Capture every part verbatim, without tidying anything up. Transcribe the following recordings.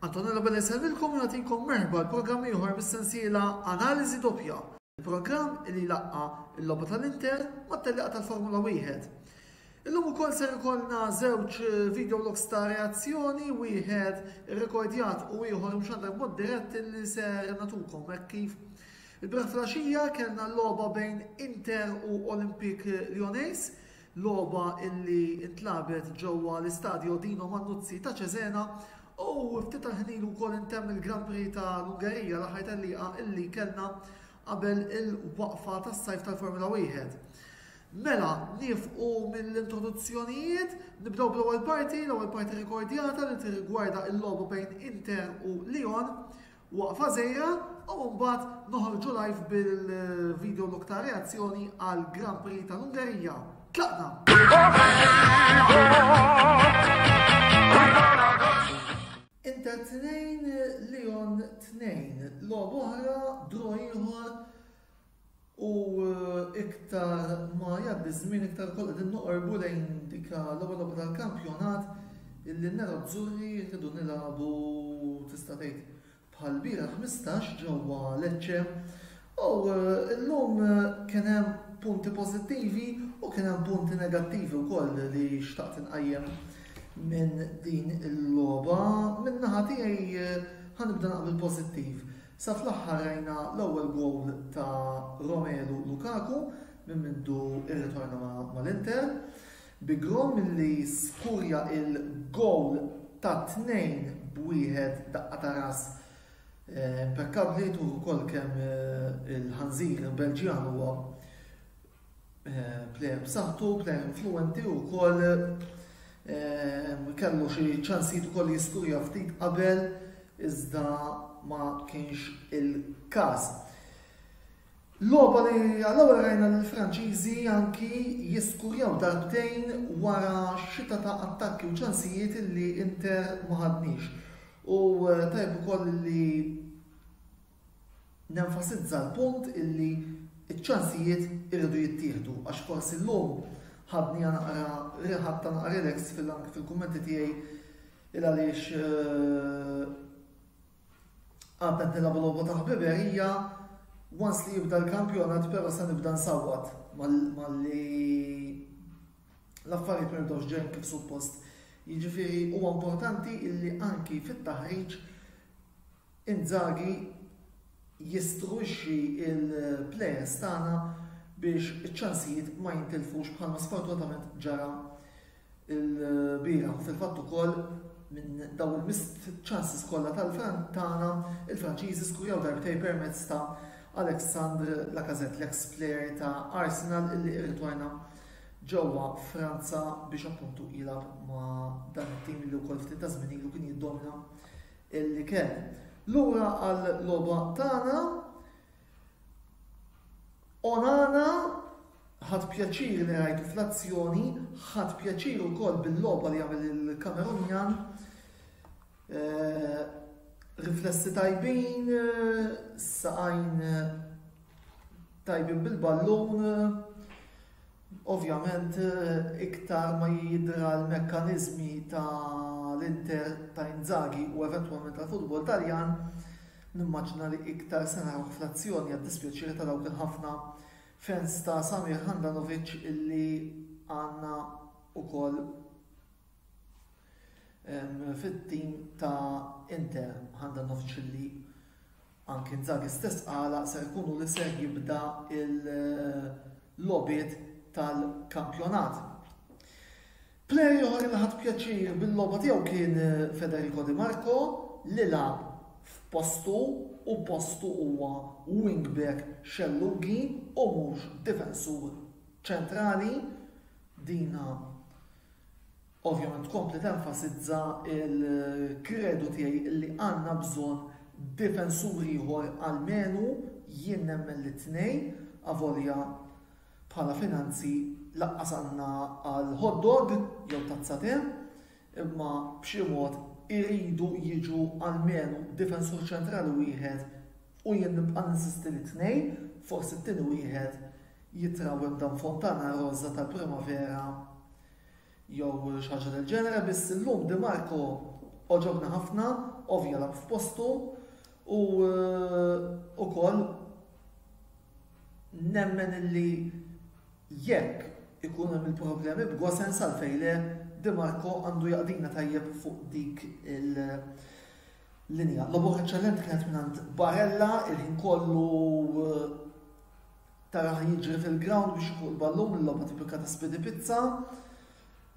Antonello Belli jsellmilkom u nagħtikom merħba l-programm ieħor mis-sensiela Analiżi Doppja. Il-programm li laqqa l-logħba tal-Inter mat-tellieqa tal-Formula wieħed. Illum ukoll ser ikollna żewġ video logs ta' reazzjoni, wieħed irrekordjat u ieħor mxandar b'mod dirett li ser natukom hekk kif il-bieraħ filgħaxija kellna l-logħba bejn Inter u Olympique Lyonnais, logħba illi intlagħbet ġewwa l-istadio Dino Manuzzi ta' Cesena, u ftit tal-ħin ilu wkoll intemm il-Grand Prix ta' l-Ungerija, l-aħħar tellieqa illi kellna qabel il-waqfa tas-sajf tal-Formula wieħed. Mela, nieqfu mill-introduzzjonijiet, nibdew bl-ewwel parti, l-ewwel parti rekordjata li tirrigwarda l-logħba bejn Inter u Lyon, waqfa żgħira, u mbagħad noħorġu live bil-video log ta' reazzjoni għal Grand Prix tal-Ungerija. Tlaqna! Inter tnejn, Lyon tnejn, logħba oħra, draw ieħor, u iktar ma jgħaddi żmien iktar kollha qegħdin noqorbu lejn dik l-ewwel logħba tal-kampjonat illi n-Nerazzurri rridu nilagħbu tista' tgħid bħal bieraħ ħmistax ġewwa Lecce. U llum kien hemm punti pożittivi u kien hemm punti negattivi wkoll li xtaqt inqajjem minn din il-logħba. Min naħa tiegħi ħanibda naqbel pożittiv. Sa fl-aħħar rajna l-ewwel goal ta' Romelu Lukaku minn mindu irritorna mal-Inter, bi Grom milli skurja il-goal ta' tnejn b'wieħed daqqa ta' ras impeccabli, tur ukoll kemm il-ħanżir Belġjan huwa player b'saħħtu, player influenti u wkoll kellu xi ċansijiet ukoll jiskurja ftit qabel iżda ma kienx il-każ. Logħba li għall-ewwel rajna lill-Franċiżi anki jiskurjaw darbtejn wara xita ta' attakki u ċansijiet li Inter ma ħadniex. U tajb ukoll li nenfasizza l-punt illi ċ-ċansijiet irridu jittieħdu, għax forsi llum ħadni naqra riħatta naqra relax fil-kummenti tiegħi il għaliex għadna qed nilagħbu logħba ta' ħbiberija, once li jibda l-kampjonat però se nibda nsawwat malli l-affarijiet ma jibdewx ġejjin kif suppost. Jiġifieri huwa importanti illi anki fit-taħriġ Inzaghi jistruixxi il-players tagħna biex iċ-ċansijiet ma jintilfux bħalma sfortunatament ġara l-bieraħ. U fil-fatt ukoll minn dawn il-missed chances kollha tal-Fran tagħna, il-Franċiżi skurjaw darbtej permezz ta' Alexandre Lacazette, l-ex player ta' Arsenal illi irritorna ġewwa Franza biex appuntu jilgħab ma' dan it-tim li wkoll ftit ta' żmien ilu kien jiddomina illi kien. Lura għal logħba tagħna, Onana ħadd pjaċir li rajtu fl-azzjoni, ħadd pjaċir ukoll bil-logħba li għamel il-Kamerunjan. Riflessi tajbin, saqajn tajbin bil-ballun, ovvjament iktar ma jidra l-mekkanizmi tal-Inter ta' Inzaghi u eventwalment tal-futbol Taljan, nimmaġina li iktar se naraw fl-azzjoni għad-dispjaċir ta' dawk il-ħafna fans ta' Samir Handanovic illi għandna ukoll fit-tim ta' Inter. Handanovic illi anki Inzaghi stess qala ser ikunu li ser jibda il-logħbiet tal-kampjonat. Player ieħor li ħadd pjaċir bil-logħba tiegħu kien Federico Di Marco li lagħab f'postu, u postu huwa wingback xellugi u mhux difensur ċentrali. Dina ovvjament tkompli tenfasizza il-kredu tiegħi li għandna bżonn difensur ieħor almenu, jien nemmen li tnejn, avolja bħala finanzi laqqas għandna għal hot dog jew tazza te, imma b'xi mod iridu jiġu almenu difensur ċentrali wieħed u jien nibqa' ninsisti li tnejn, forsi t-tieni wieħed jitrawem dan Fontana Rosa tal-Primavera jew xi ħaġa del ġenere, biss illum Di Marco oġobna ħafna, ovvja lagħab f'postu u ukoll nemmen illi jekk ikun hemm il-problemi b'Gosens għalfejn le Di Marco għandu jaqdina tajjeb fuq dik il-linja. Logħba eċċellenti kienet mingħand Barella, il-ħin kollu taraħ jiġri fil-ground biex fuq il-ballun, il-logħba tipika ta' Speedy Pizza.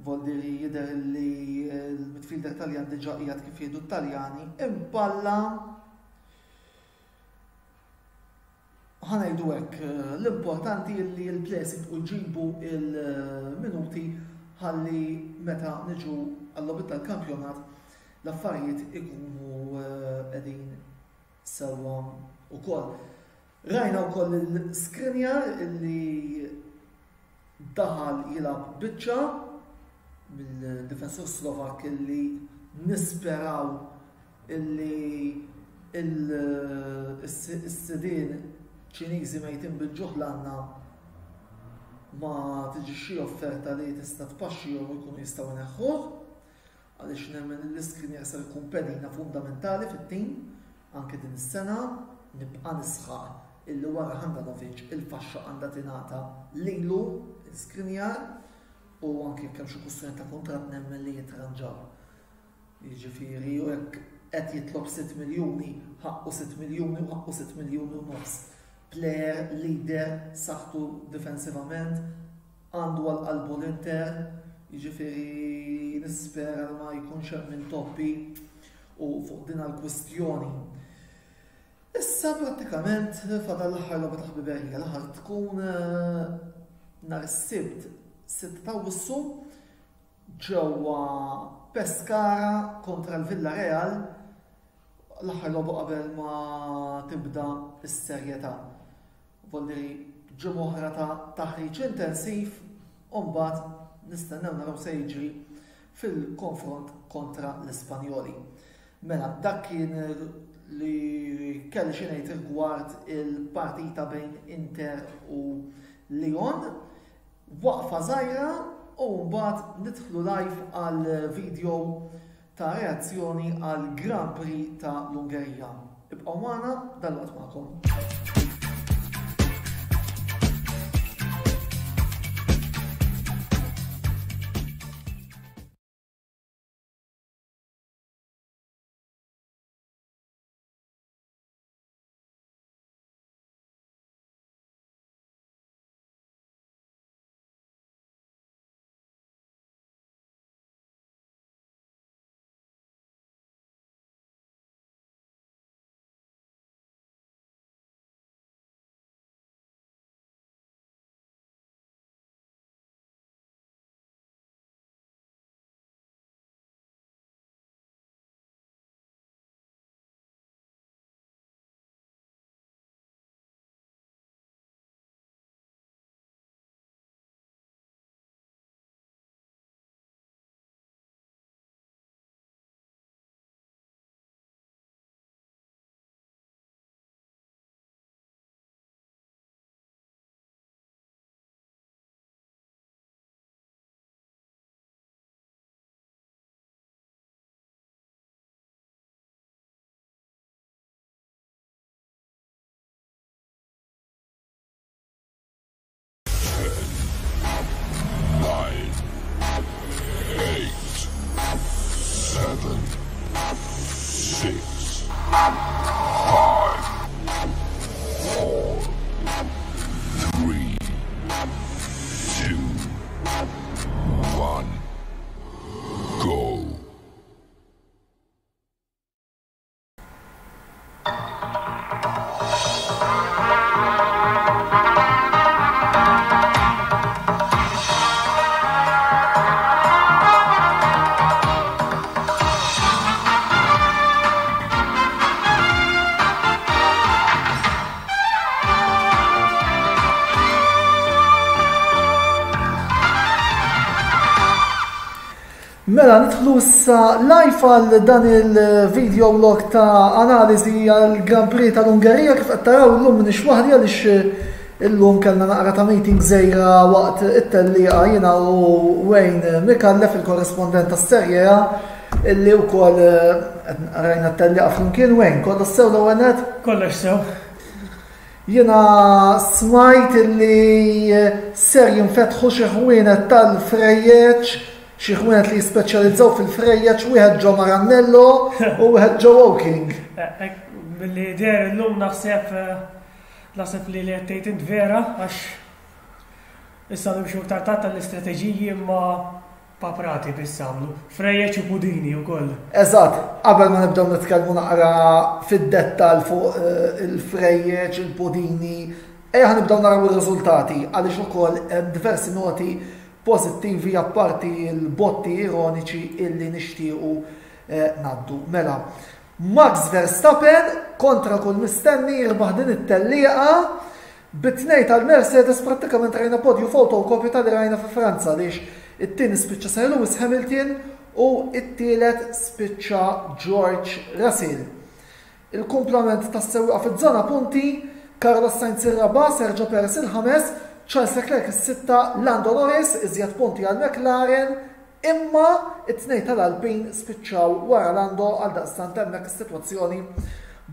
Voldiri jidher li l-midfielder Taljan diġà qiegħed kif jgħidu t-Taljani impalla. Ħa ngħidu hekk, l-importanti li l-players jibqgħu jġibu il-minuti ħalli meta niġu għall-logħbiet tal-kampjonat l-affarijiet ikunu qegħdin sewwa wkoll. Rajna wkoll il-Skriniar illi daħal jilgħab biċċa mill-difensur Slovak illi nisperaw illi is-sidien Ċiniżi mejtin bil-ġuħ l-għandna ma tiġi xi offerta li tista' tpaxxihom u jkunu jistgħu jneħħuh, għaliex nemmen li l-Skriniar ser ikun pedina fundamentali fit-tim anke din is-sena. Nibqa' nisħaq illi wara Handanovic il-faxxa għandha tingħata lilu l-Skriniar, u anke jekk hemm xi kwistjoni ta' kuntratt nemmen li jitranġaw. Jiġifieri u jekk qed jitlob sitt miljuni, ħaqqu sitt miljuni u ħaqqu sitt miljuni u nofs. Player, leader, saħħtu difensivament, għandu għal qalbu l-Inter, jiġifieri nispera li ma jkunx hemm intoppi u fuq din għall-kwistjoni. Issa prattikament fadal l-aħħar logħba ta' ħbiberija, l-aħħar tkun nhar is-Sibt sitta ta' Awwissu ġewwa Pescara kontra l-Villarreal, l-aħħar logħba qabel ma tibda s-serjetà. Voldiri ġimgħa oħra ta' taħriġ intensiv u mbagħad nistennew naraw se jiġri fil-konfront kontra l-Ispanjoli. Mela, dak kien li kelli xi ngħid rigward il-partita bejn Inter u Lyon. Waqfa żgħira u mbagħad nidħlu live għal video ta' reazzjoni għal Grand Prix ta' l-Ungerija. Ibqgħu magħna, dalwaqt magħkom. Six, five, four, three, two, one, go. Mela, nidħlu issa live għal dan il-video vlog ta' analiżi għal Grand Prix tal-Ungerija. Kif qed taraw illum m'iniex waħdi għaliex illum kellna naqra ta' meeting żgħira waqt it-tellieqa jiena u Wayne Micallef, il-korrespondent tas-Serie A. Illi wkoll eh, rajna t-tellieqa flimkien. Wayne, kollox sew l-ewwel nett? Kollox sew. Jiena smajt illi ser jinfetħu xi ħwienet tal-frejjeċ, xi ħwienet li jispeċjalizzaw fil-frejjeċ, wieħed ġo Maranello u wieħed ġo Woking. Eh, eh, Billi der illum naħseb eh, naħseb li li qed int vera, għax issa nimxu iktar tard tal-istrateġiji, imma paprati biss għamlu. Frejjeċ u pudini wkoll. Eżatt, qabel ma nibdew nitkellmu naqra fid-dettal fuq eh, il-frejjeċ, il-pudini, ejja ħa nibdew naraw ir-riżultati, għaliex ukoll hemm diversi noti pożittivi apparti l-botti ironiċi illi nixtiequ eh, ngħaddu. Mela, Max Verstappen kontra kull mistenni jirbaħ din it-tellieqa bit-tnejn tal-Mercedes. Prattikament rajna podju fotokopju tal rajna fi Franza, għaliex it-tieni spiċċa Sir Lewis Hamilton u it-tielet spiċċa George Russell. Il-kumplament tas-sewwieqa fiż-żona punti: Carlos Sainz ir-raba', Sergio Perez il-ħames, Charles Leclerc is-sitta, Lando Norris. Iżjed punti għal McLaren, imma it-tnejn tal-Alpine spiċċaw wara Lando, għal daqstant hemmhekk is-sitwazzjoni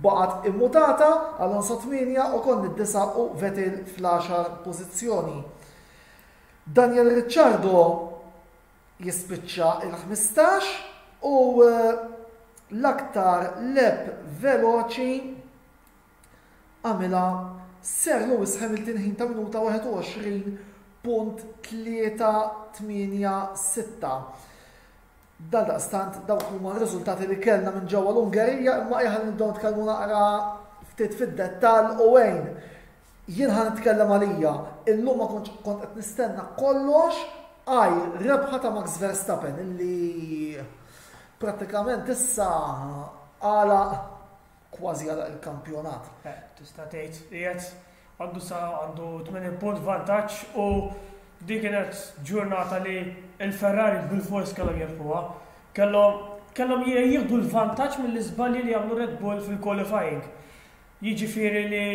baqgħet immutata: Alonso tmienja, Ocon id-disa' u Vettel fl-għaxar pożizzjoni. Daniel Ricciardo jispiċċa il-ħmistax u eh, l-aktar lap veloċi għamilha Sir Lewis Hamilton, ħin ta' minuta wieħed u għoxrin punt tlieta tmienja sitta. Dal-daqstant dawk huma r-riżultati li kellna minn ġewwa l-Ungerija, imma ejja nibdew nitkellmu naqra ftit fid-dettall. U Wayne, jien ħa nitkellem għalija, illum ma kontx kont qed nistenna kollox għajr rebħa ta' Max Verstappen, illi prattikament issa għala kważi għala il-kampjonat. Eh, Tista' tgħid qiegħed għandu sa għandu tmenin punt vantaġġ u dik kienet ġurnata li il-Ferrari bil-fors kellhom jirbħuha. Kellhom kellhom jieħdu l-vantaġġ mill-iżbalji li għamlu Red Bull fil-qualifying. Jiġifieri li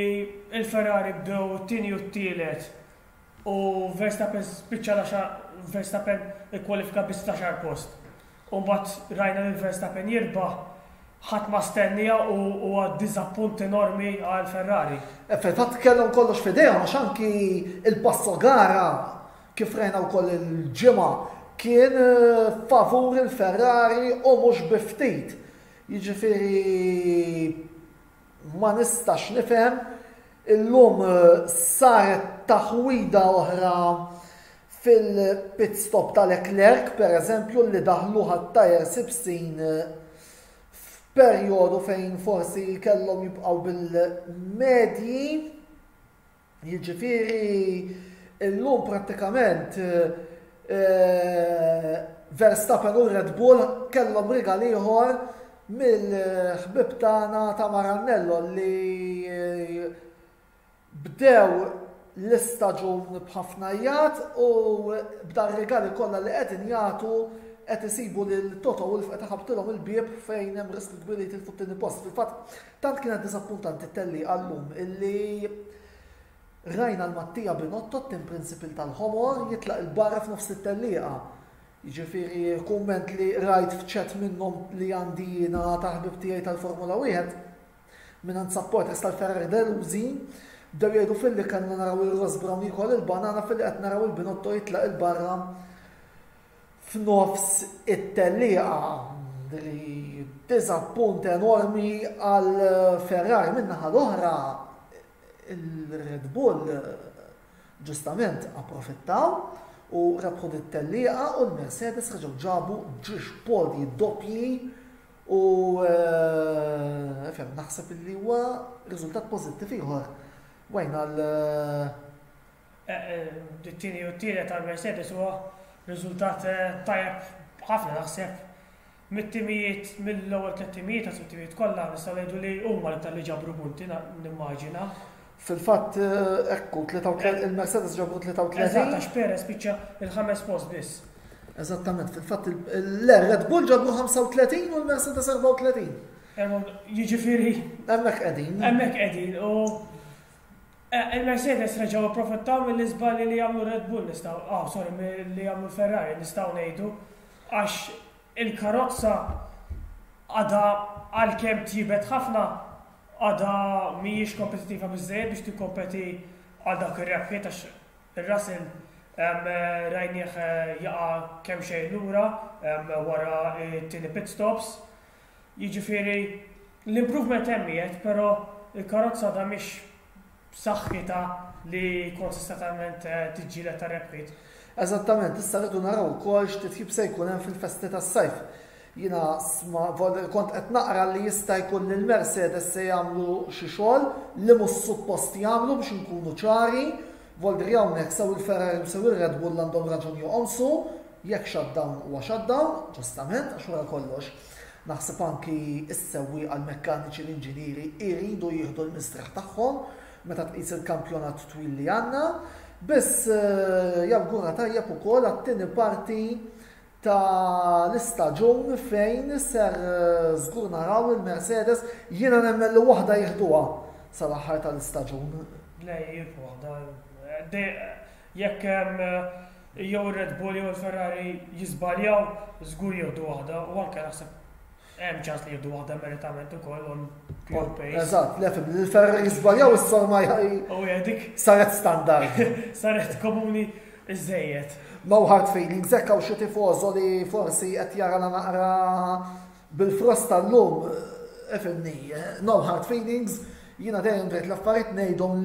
il-Ferrari bdew t-tieni u t-tielet u Verstappen spiċċa l Verstappen ikkwalifika biss l-għaxar post. U mbagħad rajna li Verstappen jirbaħ, ħadd ma stennija u huwa diżappunt enormi għal Ferrari. E fil-fatt kellhom kollox f'idejhom, għax anki il-passo gara, kif rajna wkoll il-ġimgħa, kien eh, favur il-Ferrari u mhux bi ftit. Jiġifieri ma nistax nifhem, illum eh, saret taħwida oħra fil-pit stop ta' Leclerc, per eżempju, li daħlu ħat-tyres ibsin eh, f'perjodu fejn forsi kellhom jibqgħu bil-medji. Jiġifieri illum prattikament eh, Verstappen u Red Bull kellhom rigal ieħor mill-ħbib tagħna ta' Maranello, li eh, bdew l-istaġun b'ħafna jat u b'dar regali kollha li qegħdin jagħtu qed isibu lil Toto Wolff qed iħabtilhom il-bieb fejn hemm riskju kbir li jitilfu t-tieni post. Fil-fatt tant kienet diżappuntanti t-tellieqa llum illi rajna l-Mattia Binotto, team principal tal-ħomor, jitlaq il-barra f'nofs it-tellieqa. Jiġifieri kumment li rajt f'chat minnhom li għandi jiena ta' ħbib tiegħi tal-Formula wieħed minn supporters tal-Ferrari delużi, bdew jgħidu filli kellna naraw il-Ross Brown jiekol il-banana, filli qed naraw il-Binotto jitlaq il-barra f'nofs it-tellieqa. Li diżappunt enormi għal Ferrari. Min-naħa l-oħra, il-Red Bull ġustament approfittaw u rebħu dit-tellieqa u l-Mercedes reġgħu ġabu ġiex podji doppji u eh, fem, naħseb li huwa riżultat pożittiv ieħor. Wayne, għal It-tieni u t-tielet tal-Mercedes huwa riżultat eh, tajjeb ħafna, naħseb. Mit-timijiet, mill-ewwel tliet timijiet, għas timijiet kollha, nistgħu ngħidu li huma l-iktar li ġabru punti, nimmaġina. Fil-fatt eh, ekku, tlieta u tletin, il-Mercedes ġabru tlieta u tletin. Eżatt, għax Perez spiċċa il-ħames post biss. Eżattament, fil-fatt il-Red Bull ġabru ħamsa u tletin u l-Mercedes erbgħa u tletin. Jiġifieri Hemmhekk qegħdin. Hemmhekk qegħdin u eh, il-Mercedes reġgħu approfittaw mill-iżbalji li għamlu Red Bull, nistgħu, oh sorry, li għamlu Ferrari, nistgħu ngħidu, għax Il-karozza għadha, għalkemm tjibet ħafna, għadha mhijiex kompetittiva biżżejjed biex tikkompeti għal dak ir-rebħiet, għax ir-Russell rajnieh jaqa' kemm xejn lura wara t-tieni pit stops. Jiġifieri l-improvement hemm qiegħed, però il-karozza għadha mhix b'saħħitha li konsistentament tiġġieled tar-rebħiet. Eżattament, issa rridu naraw ukoll x'titjib se jkun hemm fil-festi tas-sajf. Jiena kont qed naqra li jista' jkun li l-Mercedes se jagħmlu xi xogħol li mhux suppost jagħmlu, biex inkunu ċari. Voldri hawnhekk sew il-Ferrari u sew ir-Red Bull għandhom raġun joqomsu, jekk shutdown huwa shutdown, ġustament, għax wara kollox naħseb anki s-sewwieqa, l-mekkaniċi, l-inġinieri iridu jieħdu l-mistrieħ tagħhom meta tqis il-kampjonat twil li għandna. Biss jawgura tajjeb ukoll għat-tieni parti ta' l-istaġun fejn ser żgur naraw il-Mercedes. Jiena nemmen li waħda jieħduha sal-aħħar tal-istaġun. Le, jirbħu waħda. Jekk jew ir-Red Bull jew il-Ferrari jiżbaljaw, żgur jieħdu waħda, u anke naħseb hemm ċans li jieħdu waħda meritament ukoll on pure pace. Eżatt, le, fim, il-Ferrari jiżbaljaw issa ma Oh, dik saret standard. Saret komuni iżejjed. No hard feelings, hekk hawn xi tifożo li forsi qed jara naqra bil-frosta llum, ifhimni, no hard feelings, jiena dejjem drejt l-affarijiet ngħidhom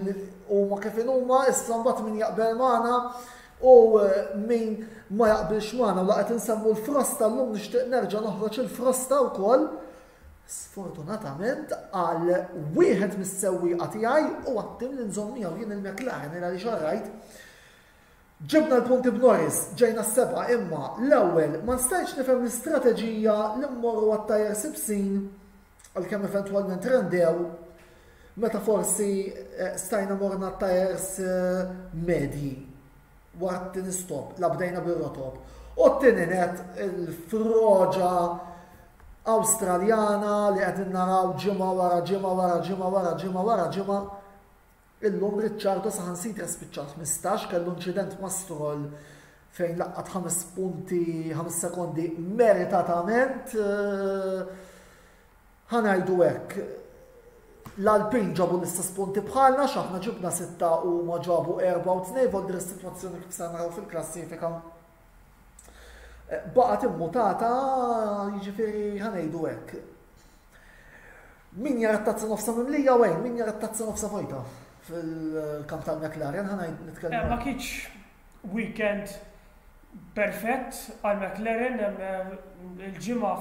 huma kif huma, issa mbagħad min jaqbel magħna u min ma jaqbilx magħna. U laqgħet insemmu l-frosta llum, nixtieq nerġa' noħroġ il-frosta wkoll. Sfortunatament għal wieħed mis-sewwieqa tiegħi u għat-tim li nżomm miegħu jien, il-McLaren, għaliex rajt ġibna l-punti b'Norris, ġejna s-seba', imma l-ewwel ma nistajx nifhem l-istrateġija li mmorru għat-tyres ibsin, għalkemm eventwalment rendew, meta forsi eh, stajna morna tyres eh, medji wara t-tieni stop, la bdejna bir-rotob. U t-tieni net, il-froġa Awstraljana li qegħdin naraw ġimgħa wara ġimgħa wara ġimgħa wara ġimgħa wara ġimgħa. Illum Ricciardo saħansitra spiċċa ħmistax, kellu inċident ma' Stroll fejn laqqat ħames punti, ħames sekondi meritatament. Eh, ħa ngħidu hekk, l-Alpine ġabu l-istess punti bħalna, x'aħna ġibna sitta u ma ġabu erba' u tnejn, voldri s-sitwazzjoni kif se naraw fil-klassifika eh, baqgħet immutata, jiġifieri ħa ngħidu hekk. Min jara t-tazza nofsa mimlija wejn, min jara t-tazza nofsa vojta fil-kamp tal-McLaren, ħa ngħid nitkellem. Eh, ma kienx weekend perfett għal McLaren, eh, il-ġimgħa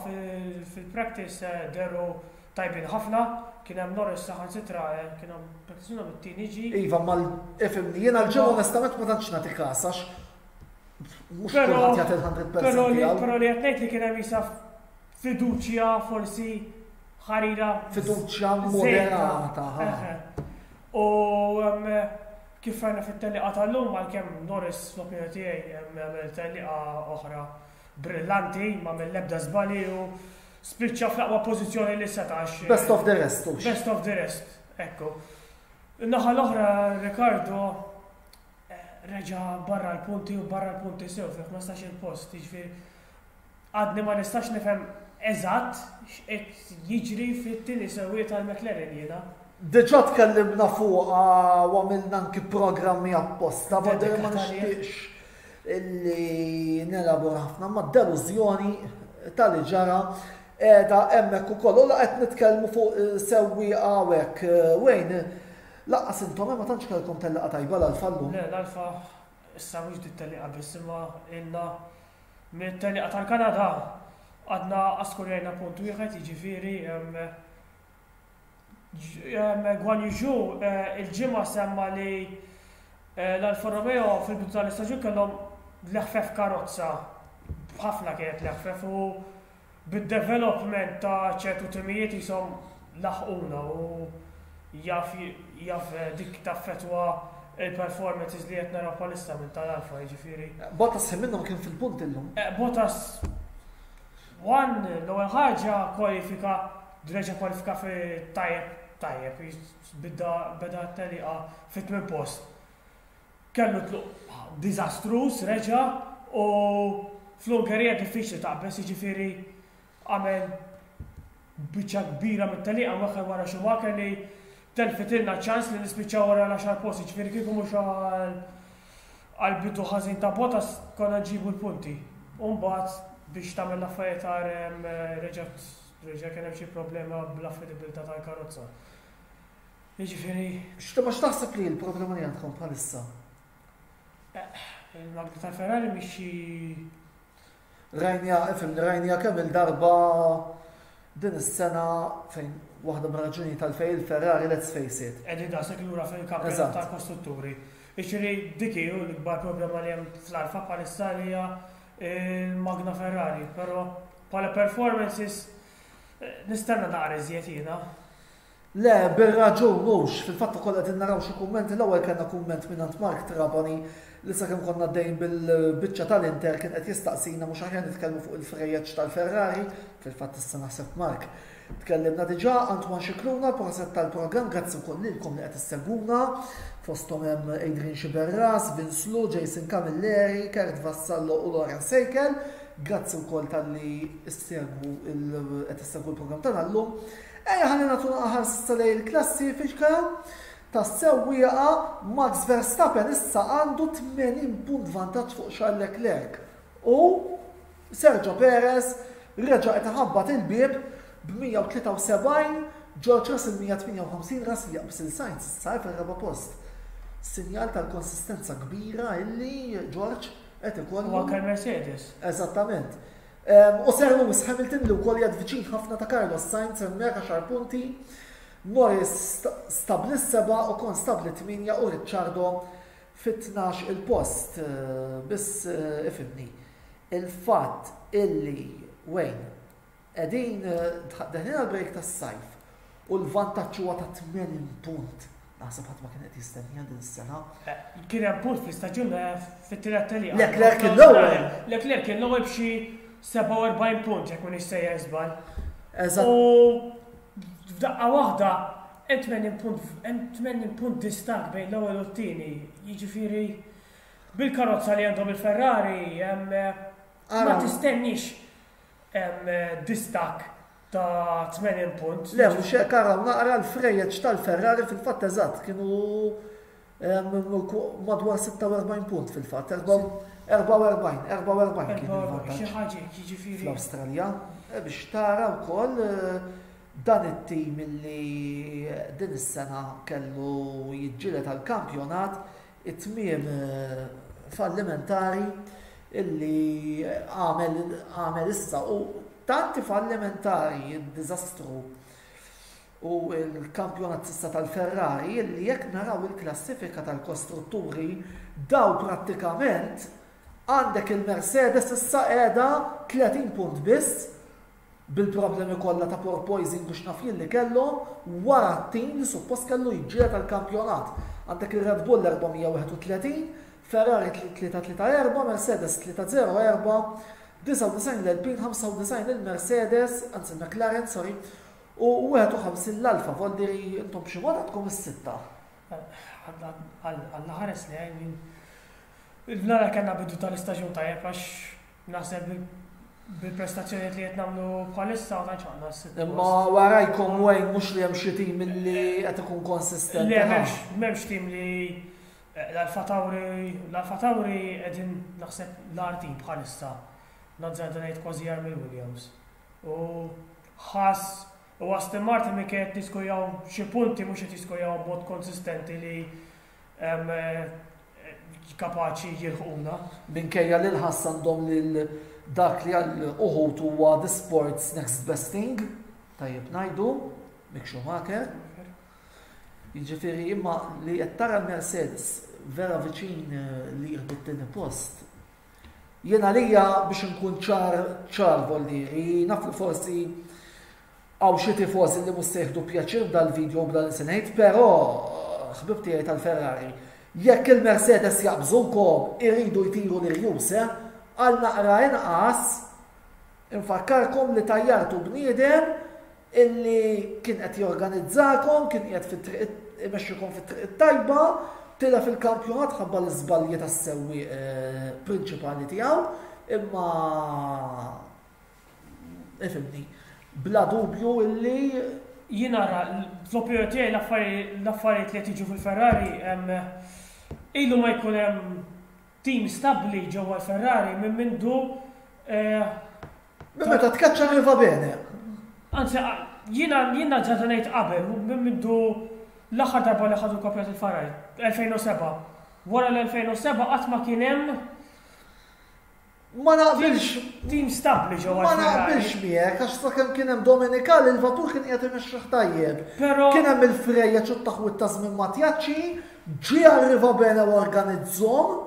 fil-practice eh, dehru tajbin ħafna, kien hemm Norris saħansitra kien hemm practice mit-tieni ġi. Iva, mal ifhimni, jiena l-ġimgħa onestament ma tantx nagħti kas għax mhux kulħadd jagħti il-mija fil-mija Però li tiegħu. Però li qed ngħid li kien hemm jisa fiduċja forsi ħarira. Fiduċja moderata. Ha. Eħe. U em, kif rajna fit-telliqa tal-lum, għalkemm Norris fl-opinjoni tiegħi em, għamel telliqa oħra brillanti, ma mill-ebda żbali u spiċċa fl-aqwa pożizzjoni li setax. Best of the rest, hux. Best of the rest, ekku. In-naħa l-oħra, Ricciardo eh, reġa barra l-punti u barra l-punti sew fi ħmistax il-post, jiġifieri għadni ma nistax nifhem eżatt x'qed jiġri fit-tieni sewwieq tal-McLaren jiena. Diġà tkellimna fuq u għamilna anki programmi apposta, ma ma Dedikat għalih. nixtieqx illi nelabora ħafna, ma delużjoni tal-li ġara edha hemmhekk ukoll. U la qed nitkellmu fuq eh, sewwieqa hawnhekk, eh, Wayne, lanqas intom ma tantx kellkom tellaqa tajba l-Alfa llum. Le, l-Alfa issa mhux dit telliqa biss, imma ilna mit-telliqa tal-Kanada għadna askurjajna punt wieħed, jiġifieri em, ġ- em, Guan Yu Zhou eh, il-ġimgħa semma li eh, l-Alfa Romeo fil-bidu tal-istaġun kellhom l-eħfef karozza, ħafna kienet l-eħfef, u bid-development ta' ċertu timijiet jisom laħquna u jaf jaf eh, dik taffetwa il-performances li qed naraw bħalissa minn tal-Alfa, jiġifieri. Bottas ħin minnhom kien fil-punt illum. Eh, Bottas one, l-ewwel ħaġa kwalifika, reġa kwalifika fi tajjeb tajjeb, bida beda telliqa fit-tmien post. Kellu tluq diżastruż reġa u fl-Ungerija diffiċli taqbeż, jiġifieri għamel biċċa kbira mit-tellieqa mwaħħal wara Schumacher li telfitilna ċans li nispiċċaw wara l-għaxar post, jiġifieri kieku mhux għal għal bidu ħażin ta' Bottas konna nġibu l-punti. U mbagħad biex tagħmel l-affarijiet reġgħet reġa' kien hemm xi problema bl-affidabilità tal-karozza. Jiġifieri X'ta x'taħseb li l-problema li għandkom bħalissa? Il-magna tal-Ferrari mhix xi Rajnieha, ifhem, rajnieha kemm il-darba din is-sena fejn waħda mir-raġuni tal-fej il-Ferrari, let's face it. Qegħdin daqshekk lura fil-kampjonat Eżatt. tal-kostrutturi. Jiġifieri dik hi l-ikbar problema li hemm fl-Alfa bħalissa li hija il-magna Ferrari, però bħala performances eh, nistenna naqra iżjed jiena. Le, bir-raġun mhux, fil-fatt ukoll qed naraw xi kummenti. L-ewwel kellna kumment minn Mark Trabani li sakemm konna għaddejn bil-biċċa tal-Inter kien qed jistaqsina mhux aħjar nitkellmu fuq il-frejjeġ tal-Ferrari, fil-fatt issa naħseb, Mark, tkellimna diġà. Antoine Xikluna, prosit tal-programm, grazzi wkoll lilkom li qed issegwuna, fosthom hemm Adrian Xiberras, Vince Lu, Jason Camilleri, Kurt Vassallo u Loren Seikel. Grazzi wkoll talli issegwu qed issegwu l-programm tagħna llum. Ejja ħalli nagħtu ħarsa lejn il-klassifika tas-sewwieqa. Max Verstappen issa għandu tmenin punt vantaġġ fuq Charles Leclerc u Sergio Perez reġa' qed iħabbat il-bieb b'mija u tlieta u sebgħin, George Russell mija u tmienja u ħamsin, Russell jaqbes lil Sainz issa fir-raba' post. Sinjal tal-konsistenza kbira illi George qed ikollu. U anke l-Mercedes. Eżattament. U Sir Lewis Hamilton li wkoll jgħad viċin ħafna ta' Carlos Sainz hemmhekk għaxar punti, Norris stabli s-seba', Ocon stabli tmienja u Ricciardo fit-tnax il-post. Biss eh, ifhimni, il-fatt illi Wayne qegħdin deħlin għal-break tas-sajf u l-vantaġġ huwa ta' tmenin punt. Naħseb ħadd ma kien qed jistennija din is-sena. Eh, kien hemm punt fl-istaġun eh, fit-tielet tellieqa. Leclerc kien l-ewwel. Leclerc kien l-ewwel b'xi sebgħa u erbgħin punt, jekk m'iniex sejjer żball. Eżatt. U f'daqqa waħda hemm tmenin punt hemm tmenin punt distakk bejn l-ewwel u t-tieni. Jiġifieri bil-karozza li għandhom il-Ferrari hemm ma Ara. tistennix hemm distakk ta' tmenin punt. Le, mhux hekk, araw naqra l-frejjeġ tal-Ferrari, fil-fatt eżatt kienu em, madwar sitta u erbgħin punt fil-fatt, erbgħa u erbgħin, erbgħa u erbgħin kien Xi il-vantaġġ ħaġa jiġifieri. fl-Awstralja. E, biex tara wkoll eh, dan it-tim li din is-sena kellu jiġġieled għall-kampjonat, it-tmiem eh, fallimentari illi għamel għamel issa u tanti fallimentari il-diżastru u il-kampjonat s'issa tal-Ferrari illi jekk naraw il-klassifika tal-kostrutturi daw prattikament għandek il-Mercedes issa qiegħda tletin punt biss bil-problemi kollha ta' porpoising biex naf jien li kellhom wara t-tim li suppost kellu jiġġieled tal-kampjonat. Għandek il-Red Bull erba' mija u wieħed u tletin, Ferrari tlieta tlieta erba', Mercedes tlieta żero erba', disgħa u disgħin l-Alpine, ħamsa u disgħin il-Mercedes, anzi McLaren, sorry, u wieħed u ħamsin l-Alfa. Voldiri intom b'xi mod għandkom is-sitta. Alla ħares li għajn. Nara kellna bidu tal-istaġun tajjeb għax naħseb bil-prestazzjoni li qed nagħmlu bħalissa ma tantx għandna s-sitt Imma post. warajkom, Wayne, mhux li hemm xi tim illi qed ikun konsistenti. Le, ha? m'hemmx m'hemmx tim li eh, l-Alfa Tauri l-Alfa Tauri qegħdin naħseb l-agħar tim bħalissa. Nazzarda ngħid kważi agħar mill-Williams. U Haas u Aston Martin mi qed jiskorjaw xi punti, mhux qed jiskorjaw b'mod konsistenti li em, eh, kapaċi jilħquna. Minkejja li l-Haas għandhom lil dak li għal uħut huwa the sports next best thing, tajjeb ngħidu, Mick Schumacher. Jiġifieri imma li qed tara l-Mercedes vera viċin eh, li jieħdu t-tieni post. Jien għalija, biex nkun ċar ċar, voldiri, naf li forsi hawn xi tifożi li mhux se jieħdu pjaċir dal-video b'dan li se ngħid, però ħbib tiegħi tal-Ferrari, jekk il-Mercedes jaqbżukom iridu jtiru l-irjus, eh? Għal naqra inqas infakkarkom li tajjartu bniedem illi kien qed jorganizzakom, kien qiegħed fit-triq imexxikom fit-triq it-tajba, tilef il-kampjonat ħabba l-iżbalji tas-sewwieq eh, prinċipali tiegħu. Imma ifhimni, bla dubju illi Jien nara, fl-opinjoni tiegħi, l-affarijiet li qed jiġu fil-Ferrari, ilu ma jkun hemm team stabbli ġewwa l-Ferrari minn mindu eh, Minn meta tkaċċa Arrivabene. Anzi, jiena jiena ġa ngħid qabel, minn mindu l-aħħar darba li ħadu l-kampjonat il-Ferrari, elfejn u sebgħa. Wara l-elfejn u sebgħa qatt ma kien hemm Ma naqbilx team stabbli ġewwa Ma l-Ferrari. naqbilx miegħek, għax sakemm kien hemm Domenicali, il-vapur kien qiegħed imexxih tajjeb. Però Kien hemm il-frejjeġ u t-taħwit ta' żmien Mattiacci, ġie Arrivabene u organizzahom,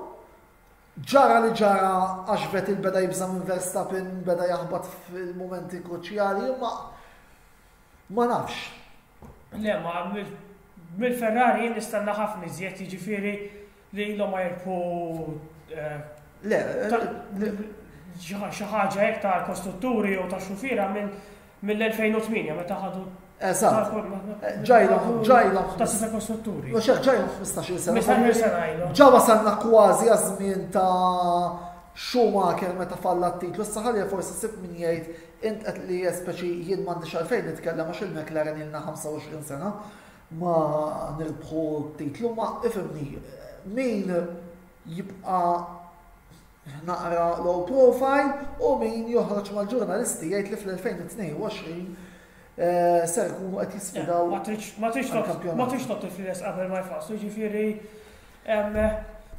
ġara li ġara għax Vettel beda jibża minn Verstappen, beda jaħbat fil-momenti kruċjali, ma ma nafx. Le, ma mill- mill-Ferrari jien nistenna ħafna iżjed, jiġifieri li ilhom ma jirbħu eh, Le, ta- xi xi ħaġa hekk ta' kostrutturi u ta' xufiera minn mill-elfejn u tmienja meta ħadu Eżatt. Ġajlhom, ġajlhom. Ta' seta' kostrutturi. Mhux hekk, ġajlhom ħmistax-il sena. ħmistax-il sena ilu. Ġa wasalna kważi għaż-żmien ta' Schumacher meta falla t-titlu. Issa ħalli forsi sib min jgħid int qed li speċi jien m'għandix għalfejn nitkellem għax il-McLaren ilna ħamsa u għoxrin sena ma nirbħu t-titlu, ma ifhimni, min jibqa' naqra low profile u min joħroġ mal-ġurnalisti jgħid li fl-elfejn u tnejn u għoxrin eh, ser ikunu qed jisfidaw Ma tridx ma tridx tot- għall-kampjonat. ma tridx tot il-flies qabel ma jfasslu, ġifieri em,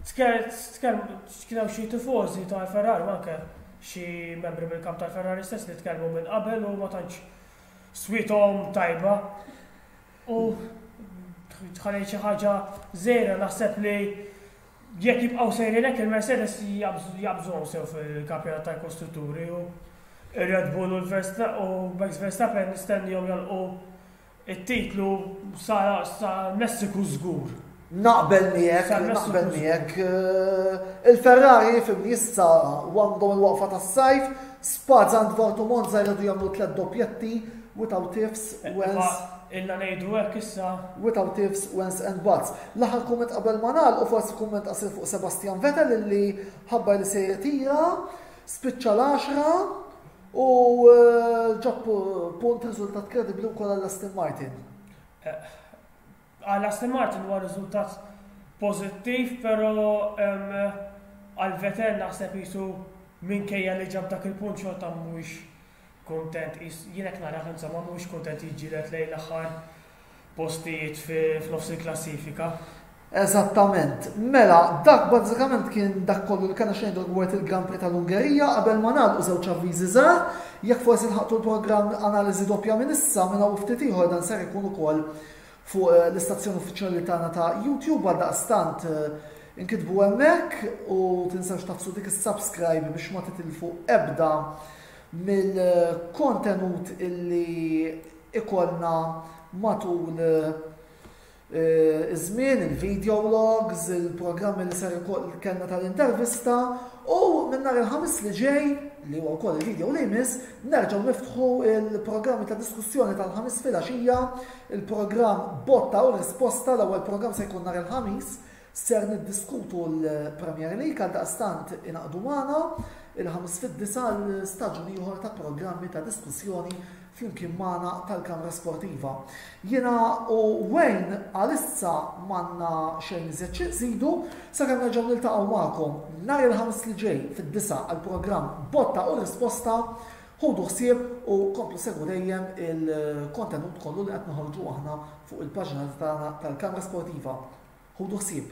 tkellem kien hemm xi tifożi tal-Ferrari u anke xi membri mill-kamp tal-Ferrari stess li tkellmu minn qabel u ma tantx swithom tajba. U tħalli xi ħaġa żgħira, naħseb li jekk jibqgħu sejrin hekk, il-Mercedes jaqbżu- jaqbżuhom sew fil-kampjonat tal-kostrutturi u ir-Red Bull u l-Versta- u Max Verstappen nistennihom jagħlqu it-titlu sa sa Messiku żgur. Naqbel miegħek, Sa Messiku naqbel żgur. miegħek. Eh, Il-Ferrari fimni issa għandhom il-waqfa tas-sajf, Spa, Zandvoort u Monza, jridu jagħmlu tliet doppjetti without ifs, whens, Ma Illa ngħidu hekk issa. Without ifs, whens and buts. L-aħħar kumment qabel ma nagħlqu, forsi kumment qasir fuq Sebastian Vettel illi ħabbar li se jirtira, spiċċa l-għaxra u eh, ġab punt, riżultat kredibbli wkoll għall Aston Martin. Għal Aston Martin huwa riżultat pożittiv, però em, għal Vettel naħseb jisu minkejja li ġab dak il-punt xorta mhuwiex kontent. Jis- Jien hekk nara, insomma, mhuwiex kontent jiġġieled lejn l-aħħar postijiet fi- f'nofs il-klassifika. Eżattament. Mela, dak bażikament kien dak kollu li kellna xejn dwar il-Grand Prix tal-Ungerija. Qabel ma nagħlqu, żewġ avviżi żgħar. Jekk forsi lħaqtu l-programm Analiżi Doppja minn issa, minn hawn ftit ieħor dan ser ikun ukoll fuq eh, l-istazzjon uffiċjali tagħna ta' YouTube, għal daqstant eh, inkitbu hemmhekk u tinsewx tagħfsu dik is-subscribe biex ma titilfu ebda mill-kontenut illi ikollna matul eh, iż-żmien, il-video logs, il-programmi li ser ikoll kellna tal-intervista, u minn nhar il-Ħamis li ġej, li huwa wkoll il-video li jmiss, nerġgħu niftħu il-programmi ta' diskussjoni tal-Ħamis filgħaxija, il-programm Botta u Risposta. L-ewwel programm se jkun nhar il-Ħamis, ser niddiskutu l-Premier League, għal daqstant ingħaqdu magħna il-Ħamis fid-disgħa l-staġun ieħor ta' programmi ta' diskussjoni flimkien magħna tal-Kamra Sportiva. Jiena u Wayne għalissa m'għandna xejn iżjed xi nżidu, sakemm nerġgħu niltaqgħu magħkom nhar il-Ħamis li ġej fid-disgħa għall-programm Botta u Risposta. Ħudu ħsieb u komplu segwu dejjem il-kontenut kollu li qed noħorġu aħna fuq il-paġna tagħna tal-Kamra Sportiva. Ħudu ħsieb.